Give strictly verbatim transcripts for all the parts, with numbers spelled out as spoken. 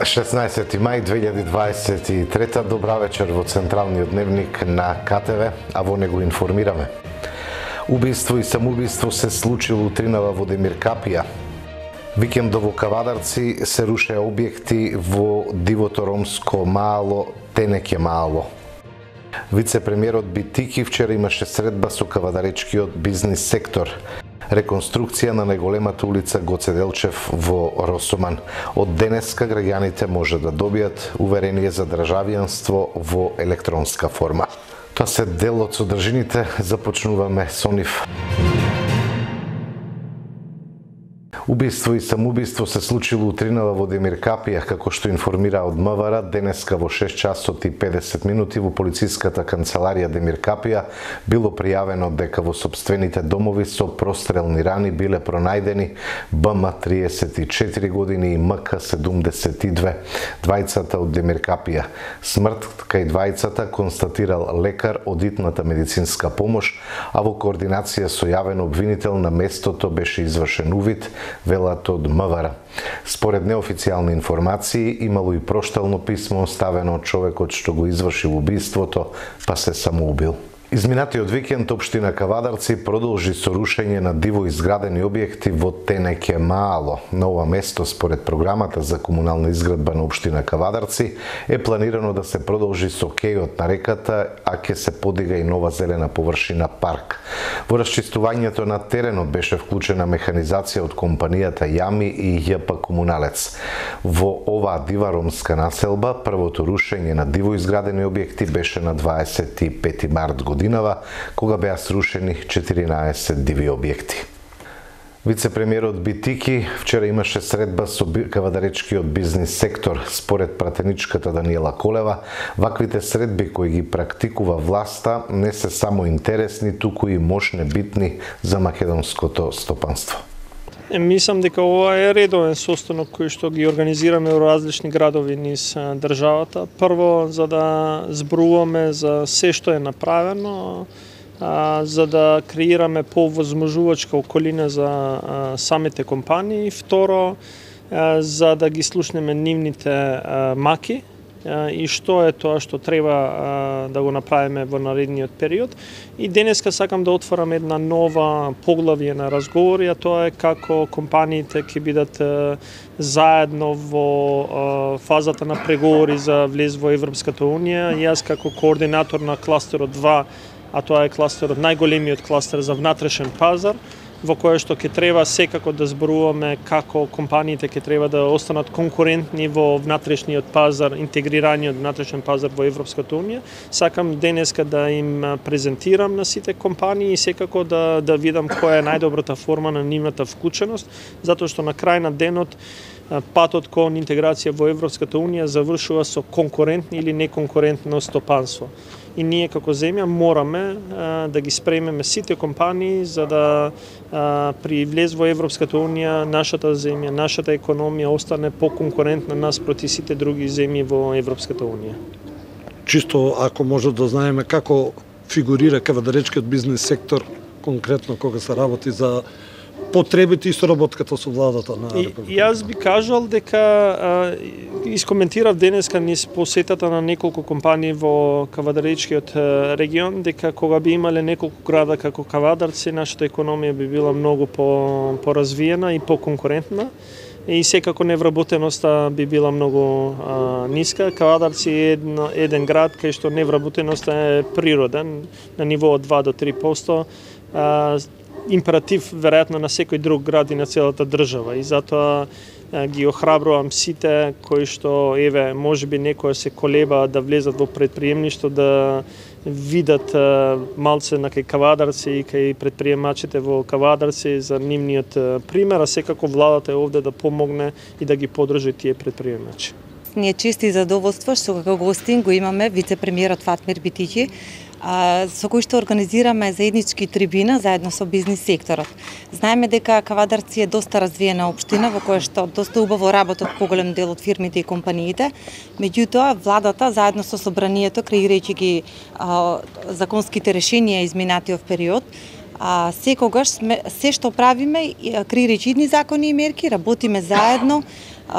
шеснаесети мај две илјади дваесет и трета, добра вечер во Централниот дневник на К Т В, а во него информираме. Убиство и самоубиство се случило утринава во Демиркапија. Викендов во Кавадарци се рушеа објекти во дивото ромско маало Тенеќе маало. Вице-премиерот Битики вчера имаше средба со кавадаречкиот бизнис сектор. Реконструкција на најголемата улица Гоце Делчев во Росоман. Од денеска граѓаните може да добијат уверение за државјанство во електронска форма. Тоа се дел од содржините, започнуваме со нив. Убиство и самоубиство се случило утринава во Демиркапија, како што информира од М В Р, денеска во шест часот и педесет минути во полициската канцеларија Демиркапија било пријавено дека во сопствените домови со прострелни рани биле пронајдени Б М триесет и четири години и М К седумдесет и две, двајцата од Демиркапија. Смрт кај двајцата констатирал лекар од итната медицинска помош, а во координација со јавен обвинител на местото беше извршен увид, велат од М В Р. Според неофицијални информации, имало и проштално писмо оставено од човекот што го извршил убиството, па се самоубил. Изминатиот викенд општина Кавадарци продолжи со рушење на диво изградени објекти во Тенеќе маало. На ова место, според програмата за комунална изградба на општина Кавадарци, е планирано да се продолжи со кејот на реката, а ќе се подига и нова зелена површина парк. Во расчистувањето на теренот беше вклучена механизација од компанијата Јами и Ј П Комуналец. Во оваа дива ромска населба, првото рушење на диво изградени објекти беше на дваесет и пети март годинава, кога беа срушени четиринаесет диви објекти. Вице-премиерот Битики вчера имаше средба со кавадаречкиот бизнис сектор. Според пратеничката Даниела Колева, ваквите средби кои ги практикува власта не се само интересни, туку и мощне битни за македонското стопанство. Мислам дека ова е редовен состанок кој што ги организираме во различни градови низ државата. Прво, за да зборуваме за се што е направено, за да креираме повозможувачка околина за самите компании. Второ, за да ги слушнеме нивните маки и што е тоа што треба да го направиме во наредниот период. И денеска сакам да отворам една нова поглавје на разговори, а тоа е како компаниите ќе бидат заедно во фазата на преговори за влез во Европската унија. Јас како координатор на кластерот два, а тоа е кластерот, најголемиот кластер за внатрешен пазар, во кој што ќе треба секако да зборуваме како компаниите ќе треба да останат конкурентни во внатрешниот пазар, интегрираниот внатрешен пазар во Европската унија. Сакам денеска да им презентирам на сите компании и секако да да видам која е најдобрата форма на нивната вклученост, затоа што на крај на денот патот кон интеграција во Европската унија завршува со конкурентно или неконкурентно стопанство. И ние како земја мораме а, да ги спремеме сите компании за да а, при влез во Европската унија нашата земја, нашата економија остане поконкурентна наспроти сите други земји во Европската унија. Чисто ако може да знаеме како фигурира кавадаречкиот бизнис сектор конкретно кога се работи за потребите и соработката со владата на Република. Јас би кажал дека а, искоментирав денеска низ посетата на неколку компании во Кавадаречкиот регион, дека кога би имале неколку града како Кавадарци, нашата економија би била многу по поразвиена и поконкурентна. И секако невработеноста би била многу а, ниска. Кавадарци е едно, еден град кај што невработеноста е природен, на ниво од два до три проценти. А, императив веројатно на секој друг град и на целата држава, и затоа ги охрабрувам сите кои што еве можеби некоја се колеба да влезат во предприемништво, да видат малце на кај Кавадарци и кај предприемачите во Кавадарци за нивниот пример, а секако владата е овде да помогне и да ги поддржи тие предприемачи. Ние чест и задоволство што како гостин го имаме вице-премиерот Фатмир Битики, со кој што организираме заеднички трибина заедно со бизнис секторот. Знаеме дека Кавадарци е доста развиена општина во која што доста убаво работат поголем дел од фирмите и компаниите. Меѓутоа, владата заедно со собранието, креирајќи ги а, законските решенија изминатиот период, а, секогаш сме, се што правиме, креирајќи идни закони и мерки, работиме заедно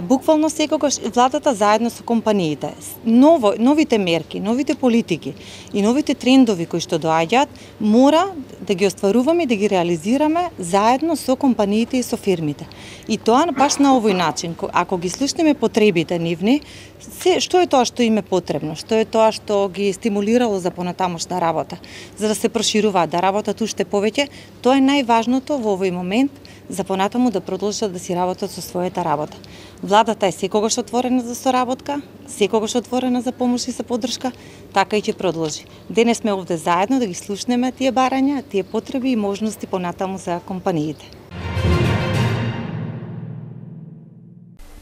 Буквално секогаш владата заедно со компаниите, ново, новите мерки, новите политики и новите трендови кои што доаѓаат, мора да ги остваруваме и да ги реализираме заедно со компаниите и со фирмите. И тоа баш на овој начин, ако ги слушнеме потребите нивни, се, што е тоа што им е потребно, што е тоа што ги стимулирало за понатамошна работа, за да се прошируваат, да работат уште повеќе, тоа е најважното во овој момент за понатаму да продолжат да си работат со својата работа. Владата е секогаш отворена за соработка, секогаш отворена за помош и за поддршка, така и ќе продолжи. Денес сме овде заедно да ги слушнеме тие барања, тие потреби и можности понатаму за компаниите.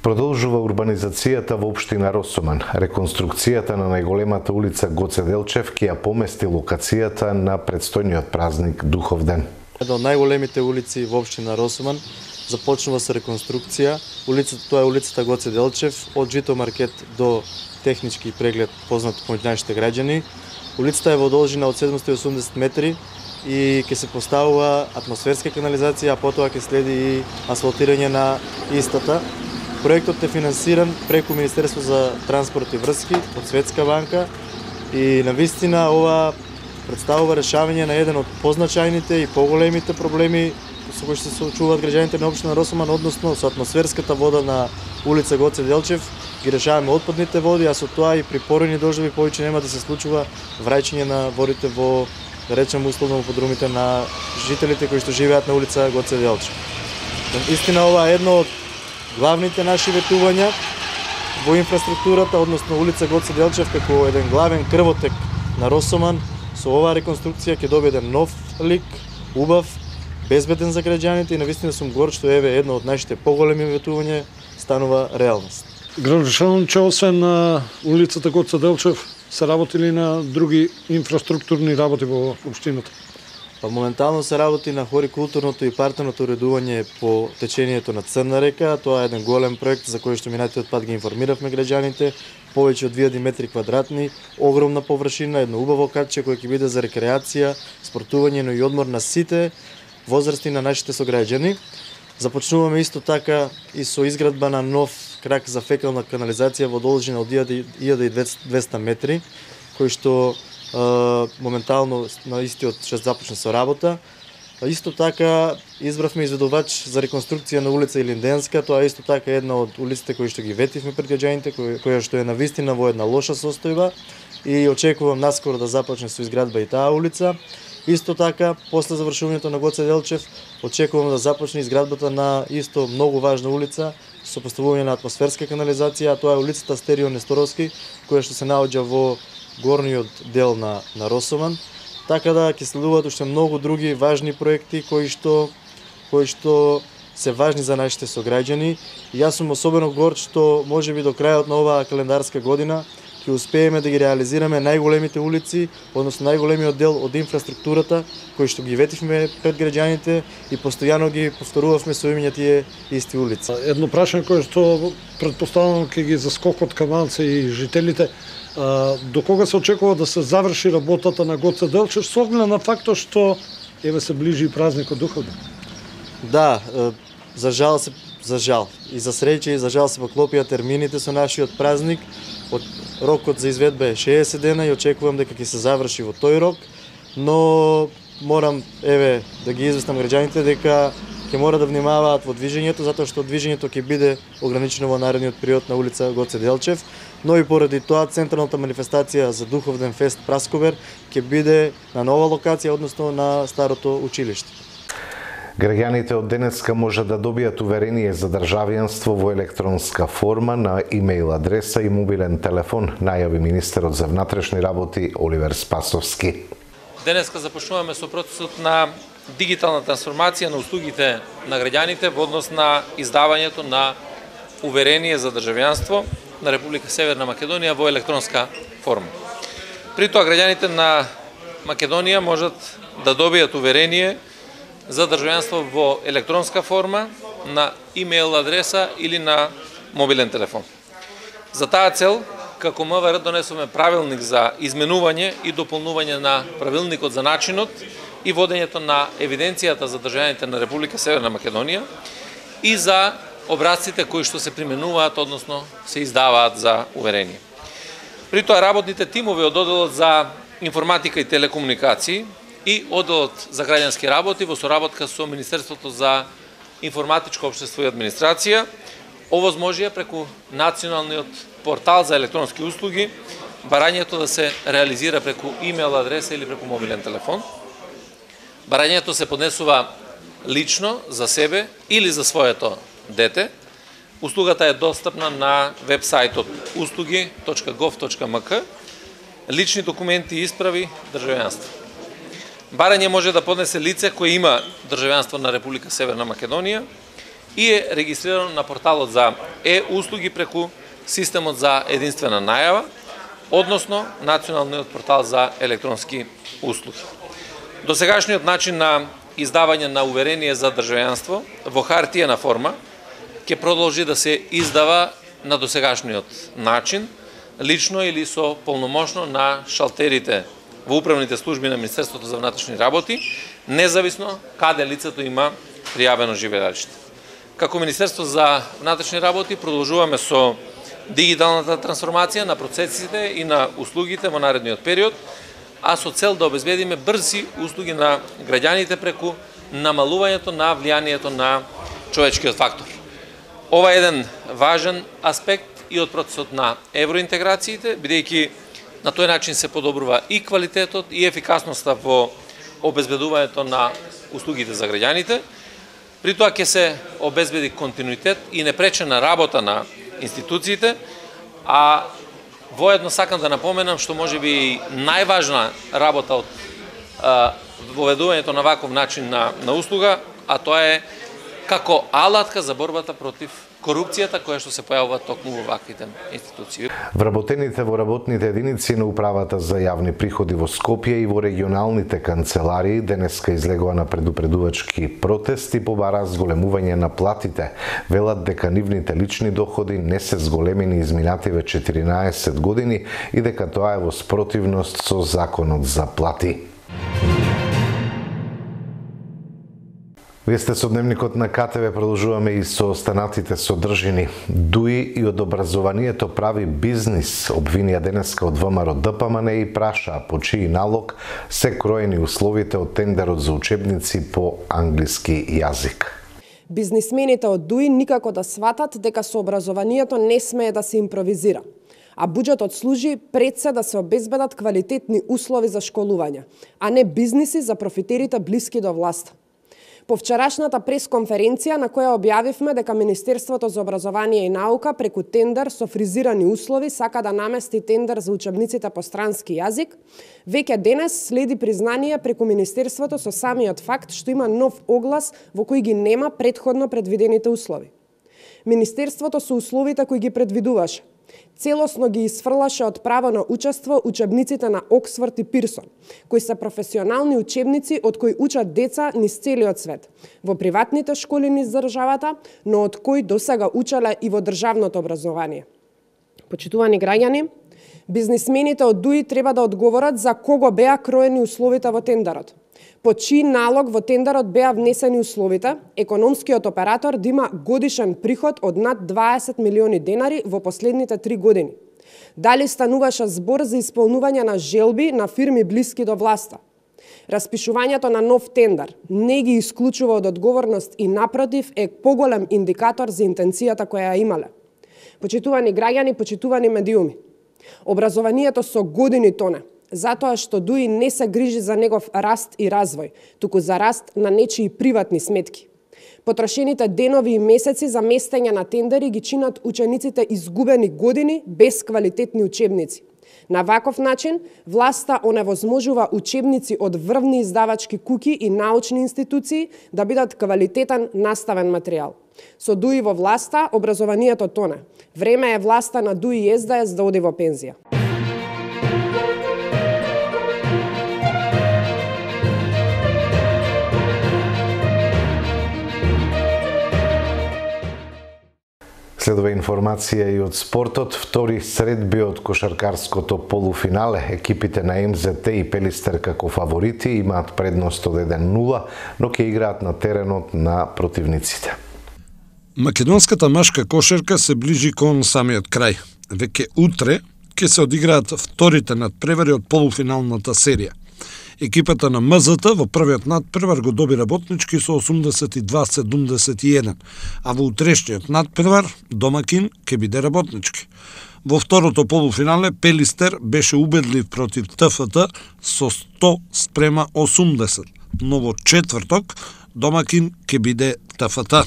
Продолжува урбанизацијата во општина Росоман. Реконструкцијата на најголемата улица Гоце Делчев ќе ја помести локацијата на предстојниот празник Духовден. Една од најголемите улици во општина Росоман започнува со реконструкција. Улицата тоа е улицата Гоце Делчев, од Жито маркет до технички преглед познат помеѓу нашите граѓани. Улицата е во должина од седумстотини и осумдесет метри и ќе се поставува атмосферска канализација, а потоа ќе следи и асфалтирање на истата. Проектот е финансиран преку Министерство за транспорт и врски од Светска банка и навистина ова представува решавање на еден од позначајните и поголемите проблеми со кои се соочуваат граѓаните на општина Росоман, односно со атмосферската вода на улица Гоце Делчев. Ги решаваме отпадните води, а со тоа и при поројни дождови повеќе нема да се случува враќање на водите во, да речеме условно, во подрумите на жителите кои што живеат на улица Гоце Делчев. Истина ова е едно од главните наши ветувања во инфраструктурата, односно улица Гоце Делчев како еден главен крвотек на Росоман. Со оваа реконструкција ќе добие еден нов лик, убав, безбеден за граѓаните и навистина сум горд што еве едно од нашите поголеми ветувања станува реалност. Градушановиче, освен на улицата Гоце Делчев, се работили на други инфраструктурни работи во општината? Па моментално се работи на хорикултурното и партерното уредување по течението на Црна река. Тоа е еден голем проект за кој што минатиот пат ги информиравме граѓаните. Повеќе од две илјади метри квадратни, огромна површина, едно убаво катче кое ќе биде за рекреација, спортување, но и одмор на сите возрасти на нашите сограѓани. Започнуваме исто така и со изградба на нов крак за фекална канализација во должина од илјада и двесте метри, кој што Uh, моментално на истиот ще започне со работа. Uh, исто така избравме изведувач за реконструкција на улица Илинденска. Тоа е исто така една од улиците кои што ги ветивме пред граѓаните, која што е навистина во една лоша состојба и очекувам наскоро да започне со изградба и таа улица. Исто така, после завршувањето на Гоце Делчев, очекувам да започне изградбата на исто многу важна улица со поставување на атмосферска канализација, а тоа е улицата Стерио Несторовски, која што се наоѓа во горниот дел на, на Росоман, така да ќе следуваат уште многу други важни проекти кои што, кои што се важни за нашите сограѓани. И јас сум особено горд што можеби до крајот на оваа календарска година ќе успееме да ги реализираме најголемите улици, односно најголемиот дел од инфраструктурата кои што ги ветивме пред граѓаните и постојано ги повторувавме со имиња тие исти улици. Едно прашање кое што претпоставувам ќе ги заскокот каманци и жителите. До кога се очекува да се заврши работата на Гоце Делчев, со оглед на фактот што еве се ближи и празникот Духовден? Да, за жал се за жал и за среќа и за жал се поклопија термините со нашиот празник. Од рокот за изведба е шеесет дена и очекувам дека ќе се заврши во тој рок, но морам еве да ги известам граѓаните дека ќе мора да внимаваат во движењето, затоа што движењето ќе биде ограничено во наредниот период на улица Гоце Делчев, но и поради тоа централната манифестација за Духовден фест Прасковер ќе биде на нова локација, односно на старото училиште. Граѓаните од денеска може да добијат уверение за државјанство во електронска форма на имејл адреса и мобилен телефон, најави министерот за внатрешни работи Оливер Спасовски. Денеска започнуваме со процесот на дигитална трансформација на услугите на граѓаните во однос на издавањето на уверение за државјанство на Република Северна Македонија во електронска форма. При тоа граѓаните на Македонија можат да добијат уверение за државјанство во електронска форма на имејл адреса или на мобилен телефон. За таа цел, како МВР донесоме правилник за изменување и дополнување на правилникот за начинот и водењето на евиденцијата за државјаните на Република Северна Македонија и за образците кои што се применуваат, односно се издаваат за уверение. При тоа работните тимови од одделот за информатика и телекомуникации и одделот за граѓански работи во соработка со Министерството за информатичко општество и администрација овозможија преку националниот портал за електронски услуги барањето да се реализира преку имейл адреса или преку мобилен телефон. Барањето се поднесува лично за себе или за своето дете. Услугата е достапна на веб-сајтот услуги точка гов точка ем ка. Лични документи и исправи државјанство. Барање може да поднесе лице кое има државјанство на Република Северна Македонија и е регистрирано на порталот за е-услуги преку системот за единствена најава, односно националниот портал за електронски услуги. Досегашниот начин на издавање на уверение за државјанство во хартиена форма ќе продолжи да се издава на досегашниот начин, лично или со полномошно на шалтерите во управните служби на Министерството за внатрешни работи, независно каде лицето има пријавено живеалиште. Како Министерство за внатрешни работи продолжуваме со дигиталната трансформација на процесите и на услугите во наредниот период, а со цел да обезбедиме брзи услуги на граѓаните преку намалувањето на влијанието на човечкиот фактор. Ова е еден важен аспект и од процесот на евроинтеграциите, бидејќи на тој начин се подобрува и квалитетот и ефикасноста во обезбедувањето на услугите за граѓаните. При тоа ќе се обезбеди континуитет и непречена работа на институциите, а воедно сакам да напоменам што можеби најважна работа од а, воведувањето на ваков начин на, на услуга, а тоа е како алатка за борбата против корупцијата која што се појавува токму во ваквите институции. Вработените во работните единици на Управата за јавни приходи во Скопје и во регионалните канцеларии денеска излегува на предупредувачки протест и побара зголемување на платите. Велат дека нивните лични доходи не се зголемени изминативе четиринаесет години и дека тоа е во спротивност со законот за плати. Вие сте со дневникот на ка те ве, продолжуваме и со останатите содржини. ДУИ и од образованието прави бизнис, обвинија денеска од ВМРО Д П М Н и праша по чиј налог се кроени условите од тендерот за учебници по англиски јазик. Бизнисмените од ДУИ никако да сватат дека со образованието не смее да се импровизира, а буџетот служи пред се да се обезбедат квалитетни услови за школување, а не бизниси за профитерите блиски до власта. По вчерашната пресконференција на која објавивме дека Министерството за образование и наука преку тендер со фризирани услови сака да намести тендер за учебниците по странски јазик, веќе денес следи признание преку Министерството со самиот факт што има нов оглас во кој ги нема предходно предвидените услови. Министерството со условите кои ги предвидуваше целосно ги изфрлаше од право на учество учебниците на Оксфорд и Пирсон, кои се професионални учебници од кои учат деца низ целиот свет, во приватните школи низ државата, но од кои досега учеле и во државното образование. Почитувани граѓани, бизнисмените од ДУИ треба да одговорат за кого беа кроени условите во тендерот. По чиј налог во тендерот беа внесени условите економскиот оператор да има годишен приход од над дваесет милиони денари во последните три години. Дали стануваше збор за исполнување на желби на фирми блиски до власта? Распишувањето на нов тендер не ги исклучува од одговорност и напротив е поголем индикатор за интенцијата која ја имале. Почитувани граѓани, почитувани медиуми, образованието со години тоне, затоа што ДУИ не се грижи за негов раст и развој, туку за раст на нечии приватни сметки. Потрошените денови и месеци за местење на тендери ги чинат учениците изгубени години без квалитетни учебници. На ваков начин, власта оневозможува учебници од врвни издавачки куќи и научни институции да бидат квалитетен наставен материјал. Со ДУИ во власта, образованието тоне. Време е власта на ДУИ и С Д С да оди во пензија. Следува информација и од спортот. Втори средби од кошаркарското полуфинале. Екипите на М З Т и Пелистер како фаворити имаат предност од еден нула, но ќе играат на теренот на противниците. Македонската машка кошерка се ближи кон самиот крај. Веќе утре ќе се одиграат вторите надпревари од полуфиналната серија. Екипата на М З Т во првиот надпревар го доби Работнички со осумдесет и два седумдесет и еден, а во утрешниот надпревар домакин ќе биде Работнички. Во второто полуфинале Пелистер беше убедлив против Т Ф Т со сто спрема осумдесет, но во четврток домакин ќе биде Т Ф Т.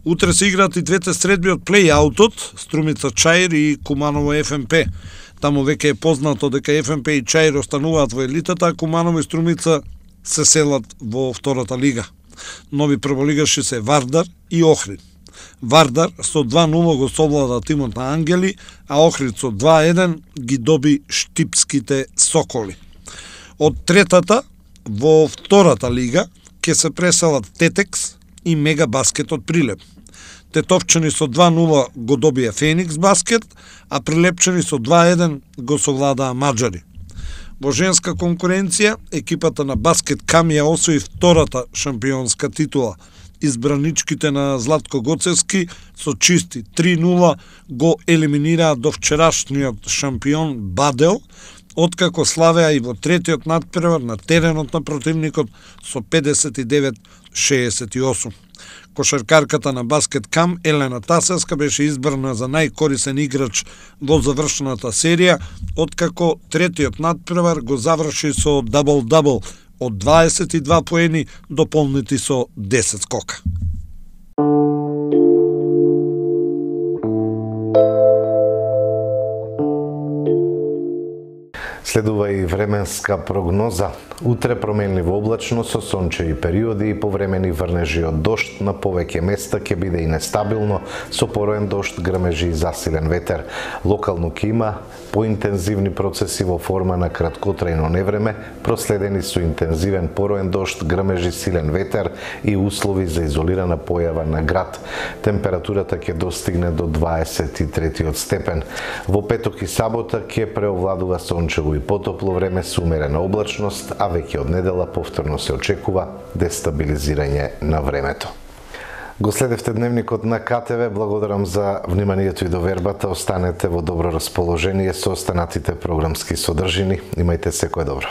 Утре се играат и двете средби од плей-аутот, Струмица Чаир и Куманово Ф М П. Таму веќе е познато дека Ф М П и Чаир остануваат во елитата, а Куманово и Струмица се селат во втората лига. Нови прволигаши се Вардар и Охрид. Вардар со два нула го совлада тимот на Ангели, а Охрид со два еден ги доби Штипските Соколи. Од третата во втората лига ќе се преселат Тетекс и Мега Баскет од Прилеп. Тетовчани со два нула го добија Феникс Баскет, а Прилепчани со два еден го совладаа Маđари. Во женска конкуренција, екипата на Баскет Кам ја освои втората шампионска титула. Избраничките на Златко Гоцевски со чисти три нула го елиминираа до вчерашниот шампион Бадел, откако славеа и во третиот надпревар на теренот на противникот со педесет и девет шеесет и осум. Кошаркарката на Баскет Кам Елена Тасевска беше избрана за најкорисен играч во завршената серија, откако третиот надпревар го заврши со дабл-дабл од дваесет и два поени дополнети со десет скока. Следува и временска прогноза. Утре променливо облачно со сончеви периоди и повремени врнежи од дожд, на повеќе места ќе биде и нестабилно со пороен дожд, грмежи и засилен ветер. Локално ќе има поинтензивни процеси во форма на краткотрајно невреме, проследени со интензивен пороен дожд, грмежи, силен ветер и услови за изолирана појава на град. Температурата ќе достигне до дваесет и третиот степен. Во петок и сабота ќе преовладува сончево и потопло време со умерена облачност, а веќе од недела повторно се очекува дестабилизирање на времето. Го следевте дневникот на К Т В. Благодарам за вниманието и довербата. Останете во добро расположение со останатите програмски содржини. Имајте секое добро.